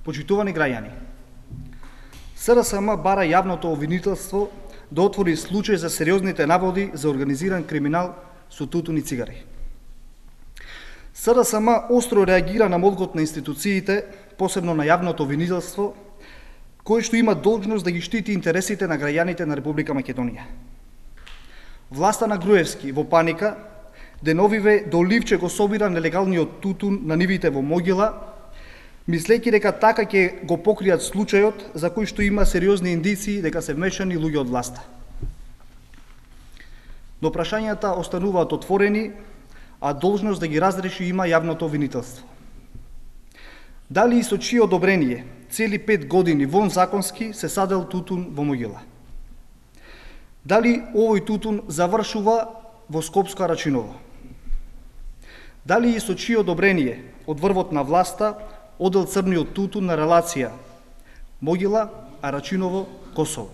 Почитувани граѓани, СРСМ бара јавното обвинителство да отвори случај за сериозните наводи за организиран криминал со тутун и цигари. СРСМ остро реагира на молбот на институциите, посебно на јавното обвинителство, кој што има должност да ги штити интересите на граѓаните на Република Македонија. Власта на Груевски во паника деновиве до ливче го собира нелегалниот тутун на нивите во Могила, мислејќи дека така ќе го покријат случајот за кој што има сериозни индиции дека се вмешани луѓе од власта. Но прашањата остануваат отворени, а должност да ги разреши има јавното обвинителство. Дали и со чие одобрение цели 5 години вон законски се садел тутун во Могила? Дали овој тутун завршува во Скопско Арачиново? Дали и со чие одобрение од врвот на власта одел црниот тутун на релација Могила, Арачиново, Косово?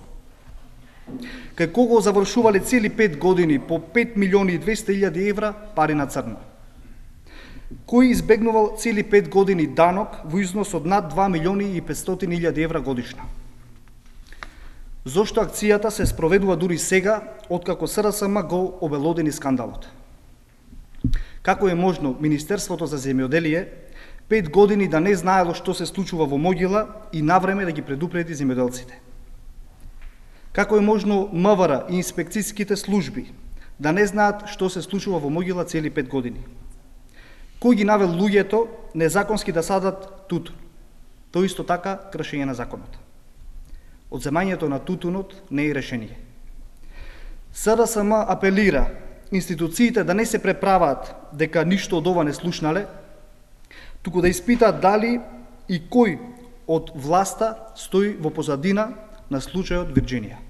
Кај кого завршувале цели 5 години по 5.200.000 евра пари на црно? Кој избегнувал цели 5 години данок во износ од над 2.500.000 евра годишно? Зошто акцијата се спроведува дури сега, откако СРСМ го обелодени скандалот? Како е можно Министерството за земјоделие 5 години да не знаело што се случува во Могила и навреме да ги предупреди земјоделците? Како е можно МВР и инспекцијските служби да не знаат што се случува во Могила цели 5 години? Кој ги навел луѓето незаконски да садат тутун? Тоа исто така кршење на законот. Одземањето на тутунот не е решение. СРСМ апелира институциите да не се преправаат дека ништо од ова не слушнале, туку да испитаат дали и кој од власта стои во позадина на случајот Вирџинија.